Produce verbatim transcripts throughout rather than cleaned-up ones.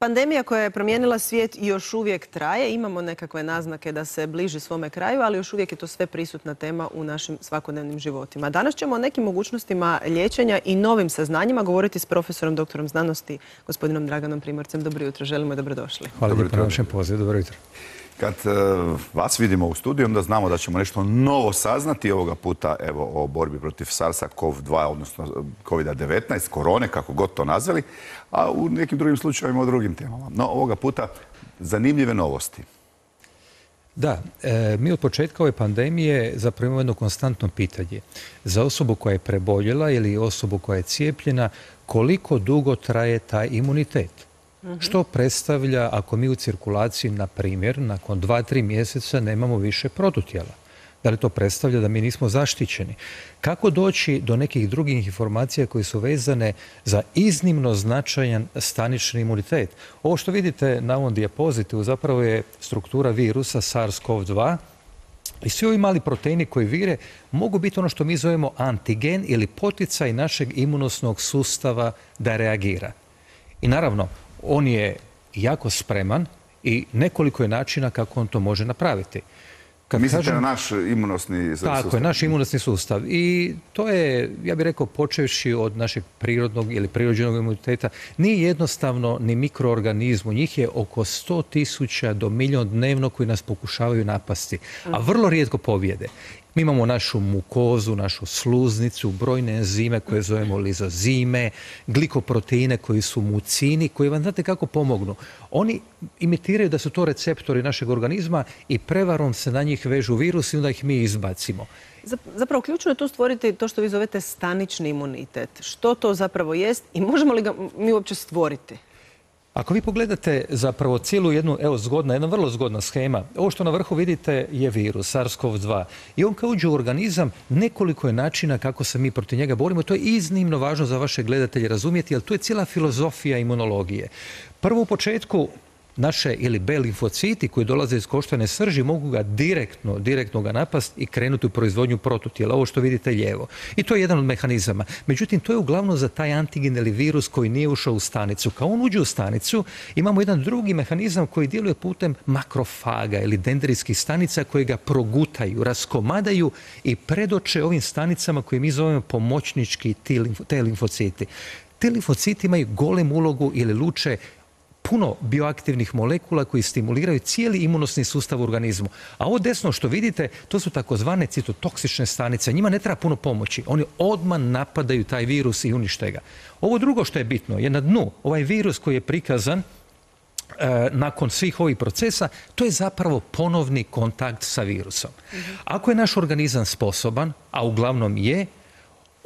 Pandemija koja je promijenila svijet i još uvijek traje. Imamo nekakve naznake da se bliži svome kraju, ali još uvijek je to sve prisutna tema u našim svakodnevnim životima. Danas ćemo o nekim mogućnostima liječenja i novim saznanjima govoriti s profesorom, doktorom znanosti, gospodinom Draganom Primorcem. Dobro jutro, želimo i dobrodošli. Hvala lijepo na vašem pozivu, dobro jutro. Kad uh, vas vidimo u studiju, onda znamo da ćemo nešto novo saznati ovoga puta evo, o borbi protiv SARS-a kov dva, odnosno kovid devetnaest, korone, kako god to nazvali, a u nekim drugim slučajevima o drugim temama. No, ovoga puta zanimljive novosti. Da, e, mi od početka ove pandemije zapravo imamo jedno konstantno pitanje. Za osobu koja je preboljela ili osobu koja je cijepljena, koliko dugo traje taj imunitet? Što predstavlja ako mi u cirkulaciji, na primjer, nakon dva, tri mjeseca nemamo više protutijela? Da li to predstavlja da mi nismo zaštićeni? Kako doći do nekih drugih informacija koje su vezane za iznimno značajan stanični imunitet? Ovo što vidite na ovom dijapozitivu zapravo je struktura virusa SARS kov dva i svi ovi mali proteini koji vire mogu biti ono što mi zovemo antigen ili poticaj našeg imunosnog sustava da reagira. I naravno, on je jako spreman i nekoliko je načina kako on to može napraviti. Kad Mislite kažem, na naš imunosni sustav? Tako je, naš imunosni sustav. I to je, ja bih rekao, počevši od našeg prirodnog ili prirođenog imuniteta, nije jednostavno ni mikroorganizmu. Njih je oko sto tisuća do milion dnevno koji nas pokušavaju napasti, a vrlo rijetko pobjede. Mi imamo našu mukozu, našu sluznicu, brojne enzime koje zovemo lizozime, glikoproteine koji su mucini, koji vam znate kako pomognu. Oni imitiraju da su to receptori našeg organizma i prevarom se na njih vežu virusi i onda ih mi izbacimo. Zapravo, ključno je tu stvoriti to što vi zovete stanični imunitet. Što to zapravo jest i možemo li ga mi uopće stvoriti? Ako vi pogledate zapravo cijelu jednu, evo zgodna, jedna vrlo zgodna schema, ovo što na vrhu vidite je virus SARS kov dva i on kad uđe u organizam nekoliko je načina kako se mi protiv njega borimo. To je iznimno važno za vaše gledatelje razumjeti, jer to je cijela filozofija imunologije. Prvo u početku naše ili B limfociti koji dolaze iz koštane srži mogu ga direktno, direktno ga napast i krenuti u proizvodnju protutijela, ovo što vidite lijevo. I to je jedan od mehanizama. Međutim, to je uglavnom za taj antigen ili virus koji nije ušao u stanicu. Kao on uđe u stanicu, imamo jedan drugi mehanizam koji djeluje putem makrofaga ili dendrijskih stanica koji ga progutaju, raskomadaju i predoče ovim stanicama koje mi zovemo pomoćnički T limfociti. Te limfociti imaju golem ulogu ili luče puno bioaktivnih molekula koji stimuliraju cijeli imunosni sustav u organizmu. A ovo desno što vidite, to su takozvane citotoksične stanice. Njima ne treba puno pomoći. Oni odmah napadaju taj virus i unište ga. Ovo drugo što je bitno je na dnu, ovaj virus koji je prikazan e, nakon svih ovih procesa, to je zapravo ponovni kontakt sa virusom. Ako je naš organizam sposoban, a uglavnom je,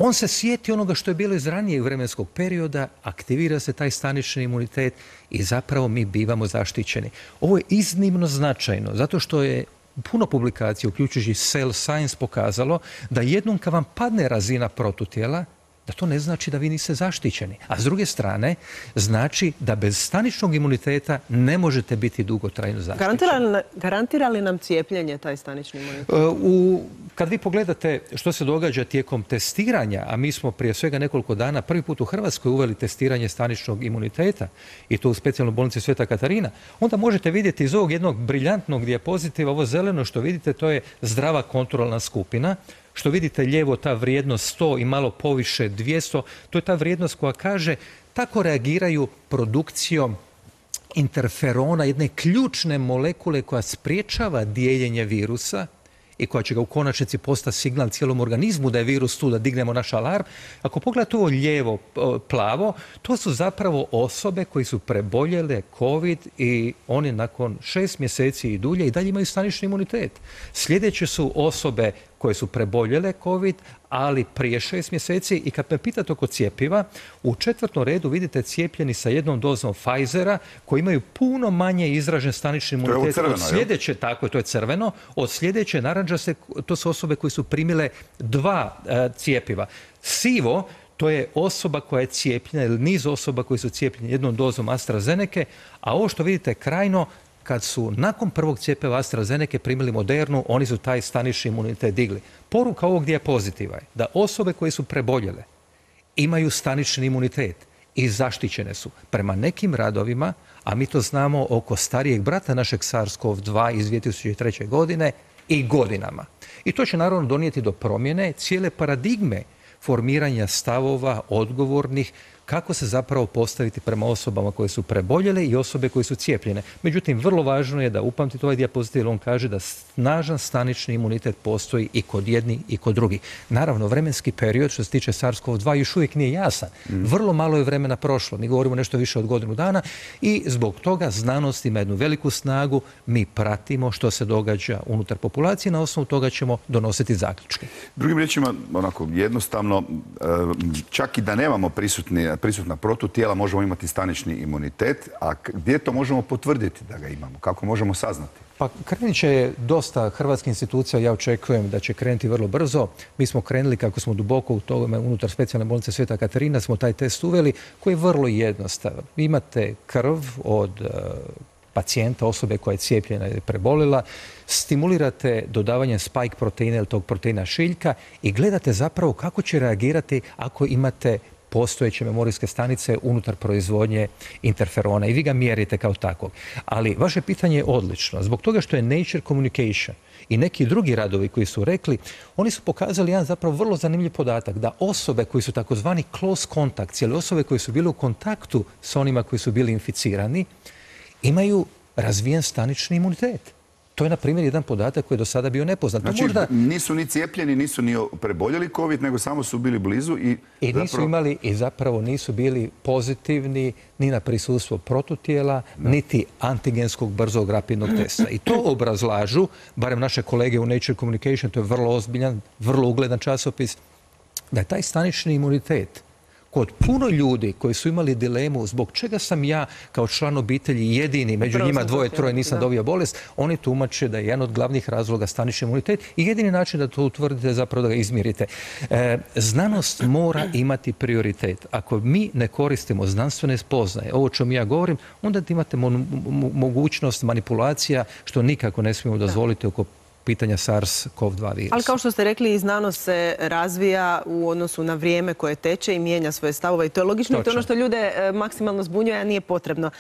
on se sjeti onoga što je bilo iz ranijeg vremenskog perioda, aktivira se taj stanični imunitet i zapravo mi bivamo zaštićeni. Ovo je iznimno značajno, zato što je puno publikacija, uključujući Cell Science, pokazalo da jednom kad vam padne razina protutijela, da to ne znači da vi niste zaštićeni. A s druge strane, znači da bez staničnog imuniteta ne možete biti dugotrajno zaštićeni. Garantira li, garantira li nam cijepljenje taj stanični imunitet? U, kad vi pogledate što se događa tijekom testiranja, a mi smo prije svega nekoliko dana prvi put u Hrvatskoj uveli testiranje staničnog imuniteta i to u specijalnoj bolnici Sveta Katarina, onda možete vidjeti iz ovog jednog briljantnog dijapozitiva, ovo zeleno što vidite, to je zdrava kontrolna skupina. Što vidite lijevo, ta vrijednost sto i malo poviše dvjesto, to je ta vrijednost koja kaže tako reagiraju produkcijom interferona, jedne ključne molekule koja spriječava dijeljenje virusa i koja će ga u konačnici postati signal cijelom organizmu da je virus tu, da dignemo naš alarm. Ako pogledate ovo lijevo plavo, to su zapravo osobe koji su preboljele COVID i oni nakon šest mjeseci i dulje i dalje imaju stanični imunitet. Sljedeće su osobe koje su preboljele COVID, ali prije šest mjeseci. I kad me pitate oko cijepiva, u četvrtom redu vidite cijepljeni sa jednom dozom Pfizera koji imaju puno manje izražen stanični imunitet. To je od sljedeće, tako je, to je crveno. Od sljedeće narančaste, to su osobe koje su primile dva uh, cijepiva. Sivo, to je osoba koja je cijepljena ili niz osoba koji su cijepljeni jednom dozom AstraZeneke, a ovo što vidite krajno, kad su nakon prvog cjepiva AstraZeneke primili Modernu, oni su taj stanični imunitet digli. Poruka ovog dijapozitiva je da osobe koje su preboljele imaju stanični imunitet i zaštićene su. Prema nekim radovima, a mi to znamo oko starijeg brata našeg SARS-CoV dva iz dvije tisuće treće. godine i godinama. I to će naravno donijeti do promjene cijele paradigme formiranja stavova odgovornih kako se zapravo postaviti prema osobama koje su preboljele i osobe koje su cijepljene. Međutim, vrlo važno je da upamtite ovaj dijapozitiv, jer on kaže da snažan stanični imunitet postoji i kod jednih i kod drugih. Naravno, vremenski period što se tiče SARS-CoV dva još uvijek nije jasan. Vrlo malo je vremena prošlo. Mi govorimo nešto više od godinu dana i zbog toga znanost ima jednu veliku snagu. Mi pratimo što se događa unutar populacije, na osnovu toga ćemo donositi zaključke. Drugim riječima, onako jednostavno, čak i da nemamo prisutni prisutna protutijela, možemo imati stanični imunitet, a gdje to možemo potvrditi da ga imamo? Kako možemo saznati? Pa krenit će dosta hrvatskih institucija, ja očekujem da će krenuti vrlo brzo. Mi smo krenuli, kako smo duboko u tome, unutar specijalne bolnice Sveta Katarina, smo taj test uveli, koji je vrlo jednostavan. Imate krv od pacijenta, osobe koja je cijepljena ili prebolila, stimulirate dodavanjem spike proteina ili tog proteina šiljka i gledate zapravo kako će reagirati ako imate postojeće memorijske stanice unutar proizvodnje interferona i vi ga mjerite kao takvog. Ali vaše pitanje je odlično. Zbog toga što je Nature Communication i neki drugi radovi koji su rekli, oni su pokazali jedan zapravo vrlo zanimljiv podatak, da osobe koji su takozvani close contacts, ili osobe koje su bile u kontaktu s onima koji su bili inficirani, imaju razvijen stanični imunitet. To je, na primjer, jedan podatak koji je do sada bio nepoznat. Znači, možda nisu ni cijepljeni, nisu ni preboljeli COVID, nego samo su bili blizu i... I nisu zapravo... imali, i zapravo nisu bili pozitivni ni na prisustvo protutijela, da. Niti antigenskog brzog rapidnog testa. I to obrazlažu, barem naše kolege u Nature Communication, to je vrlo ozbiljan, vrlo ugledan časopis, da je taj stanični imunitet kod puno ljudi koji su imali dilemu zbog čega sam ja kao član obitelji jedini, među njima dvoje, troje nisam dobio bolest, oni tumače da je jedan od glavnih razloga stanični imunitet i jedini način da to utvrdite je zapravo da ga izmjerite. E, znanost mora imati prioritet. Ako mi ne koristimo znanstvene spoznaje, ovo čemu ja govorim, onda imate mo mo mogućnost manipulacija što nikako ne smijemo dozvoliti oko pitanja SARS-CoV dva virusa. Ali kao što ste rekli, i znanost se razvija u odnosu na vrijeme koje teče i mijenja svoje stavove. I to je logično. I to je ono što ljude maksimalno zbunjuje, a nije potrebno.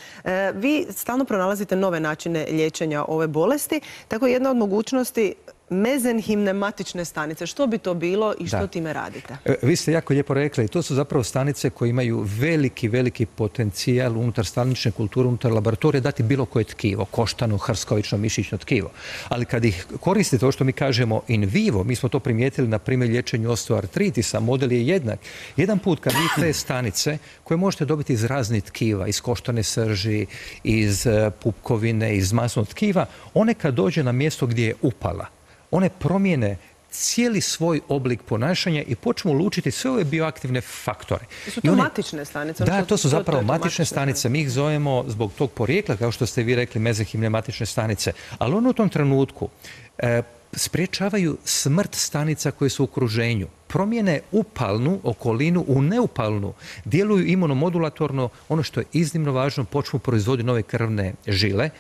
Vi stalno pronalazite nove načine liječenja ove bolesti. Tako jedna od mogućnosti mezenhimne matične stanice. Što bi to bilo i što da. time radite? Vi ste jako lijepo rekli. To su zapravo stanice koje imaju veliki, veliki potencijal unutar stanične kulture, unutar laboratorije dati bilo koje tkivo, koštano, hrskovično, mišićno tkivo. Ali kad ih koristite, to što mi kažemo in vivo, mi smo to primijetili na primjer liječenju osteoartritisa, model je jednak. Jedan put kad vi te stanice koje možete dobiti iz raznih tkiva, iz koštane srži, iz pupkovine, iz masnog tkiva, one kad dođe na mjesto gdje je upala, one promijene cijeli svoj oblik ponašanja i počnu lučiti sve ove bioaktivne faktore. Su to one... matične stanice? Da, to su zapravo to to matične stanice. Mi ih zovemo zbog tog porijekla, kao što ste vi rekli, mezenhimne matične stanice. Ali one u tom trenutku e, spriječavaju smrt stanica koje su u okruženju. Promijene upalnu okolinu u neupalnu, djeluju imunomodulatorno, ono što je iznimno važno, počnu proizvoditi nove krvne žile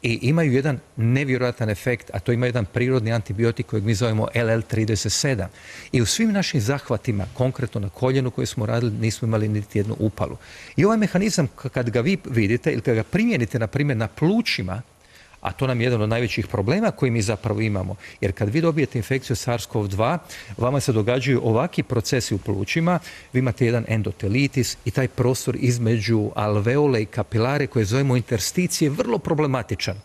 i imaju jedan nevjerojatan efekt, a to ima jedan prirodni antibiotik kojeg mi zovemo L L trideset sedam. I u svim našim zahvatima, konkretno na koljenu koje smo radili, nismo imali niti jednu upalu. I ovaj mehanizam, kad ga vi vidite ili kad ga primijenite, na primjer, na plućima, a to nam je jedan od najvećih problema koji mi zapravo imamo. Jer kad vi dobijete infekciju SARS-CoV dva, vama se događaju ovakvi procesi u plućima, vi imate jedan endotelitis i taj prostor između alveole i kapilare koje zovemo intersticije vrlo problematičan.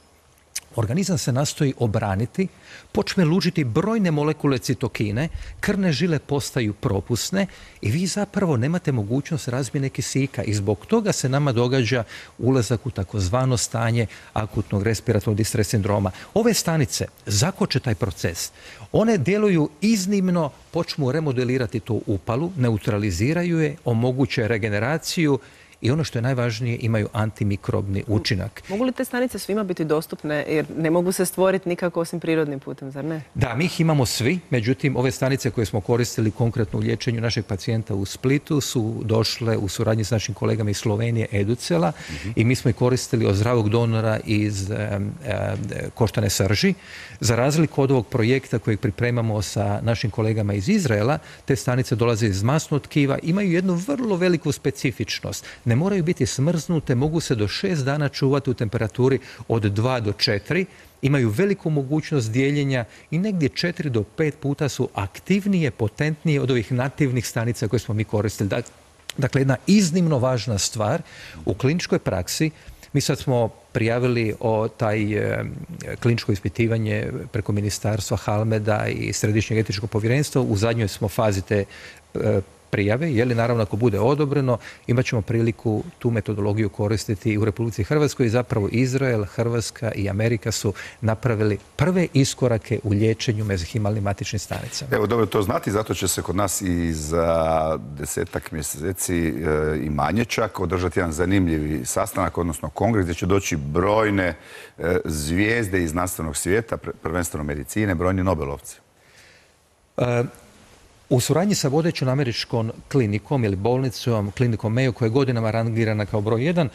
Organizam se nastoji obraniti, počne lučiti brojne molekule citokine, krvne žile postaju propusne i vi zapravo nemate mogućnost razmjene kisika i zbog toga se nama događa ulazak u takozvano stanje akutnog respiratornog distres sindroma. Ove stanice zakoče taj proces. One djeluju iznimno, počnu remodelirati tu upalu, neutraliziraju je, omoguće regeneraciju i ono što je najvažnije, imaju antimikrobni učinak. Mogu li te stanice svima biti dostupne jer ne mogu se stvoriti nikako osim prirodnim putem, zar ne? Da, mi ih imamo svi, međutim ove stanice koje smo koristili konkretno u liječenju našeg pacijenta u Splitu su došle u suradnji s našim kolegama iz Slovenije, Educela, mm-hmm. i mi smo ih koristili od zdravog donora iz e, e, koštane srži. Za razliku od ovog projekta kojeg pripremamo sa našim kolegama iz Izraela, te stanice dolaze iz masnog tkiva, imaju jednu vrlo veliku specifičnost. Ne moraju biti smrznute, mogu se do šest dana čuvati u temperaturi od dva do četiri, imaju veliku mogućnost dijeljenja i negdje četiri do pet puta su aktivnije, potentnije od ovih nativnih stanica koje smo mi koristili. Dakle, jedna iznimno važna stvar u kliničkoj praksi. Mi sad smo prijavili o taj e, kliničko ispitivanje preko ministarstva Halmeda i Središnjeg etičkog povjerenstva. U zadnjoj smo fazi te e, prijave, je li naravno ako bude odobreno, imat ćemo priliku tu metodologiju koristiti u Republici Hrvatskoj i zapravo Izrael, Hrvatska i Amerika su napravili prve iskorake u liječenju mezihimalnim matičnim stanicama. Evo, dobro to znati, zato će se kod nas i za desetak mjeseci e, i manje čak održati jedan zanimljivi sastanak, odnosno kongres gdje će doći brojne e, zvijezde iz znanstvenog svijeta, prvenstveno medicine, brojni Nobelovci. E, U suradnji sa vodećom američkom klinikom ili bolnicom, klinikom Mayo, koja je godinama rangirana kao broj jedan,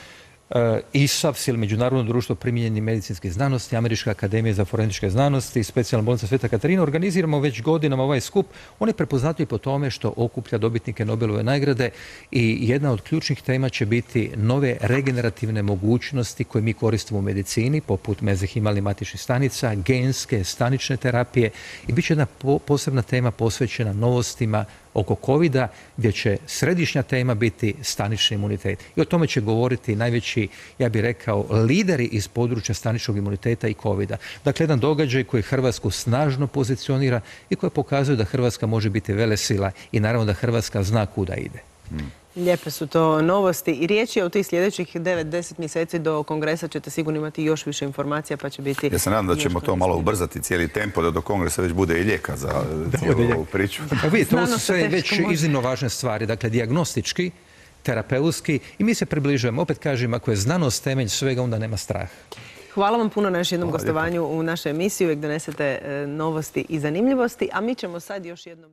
I S A F S ili Međunarodno društvo primijenjenih medicinskih znanosti, Američka akademija za forenzičke znanosti i specijalna bolnica Sveta Katarina, organiziramo već godinama ovaj skup. On je prepoznatljiv po tome što okuplja dobitnike Nobelove nagrade i jedna od ključnih tema će biti nove regenerativne mogućnosti koje mi koristimo u medicini, poput mezihimalnih matičnih stanica, genske, stanične terapije, i bit će jedna po posebna tema posvećena novostima oko kovida, gdje će središnja tema biti stanični imunitet. I o tome će govoriti najveći, ja bih rekao, lideri iz područja staničnog imuniteta i kovida. Dakle, jedan događaj koji Hrvatsku snažno pozicionira i koji pokazuje da Hrvatska može biti velesila i naravno da Hrvatska zna kuda ide. Hmm. Lijepe su to novosti i riječ je o tih sljedećih devet do deset mjeseci do kongresa ćete sigurno imati još više informacija, pa će biti... Ja se nadam da ćemo to malo ubrzati cijeli tempo, da do kongresa već bude i lijeka za cijelu ovu priču. Pa vidite, ovo su sve već iznimno važne stvari, dakle dijagnostički, terapeutski, i mi se približujemo. Opet kažem, ako je znanost temelj svega, onda nema straha. Hvala vam puno na još jednom gostovanju u našoj emisiji. Uvijek donesete novosti i zanimljivosti, a mi ćemo sad još jednom...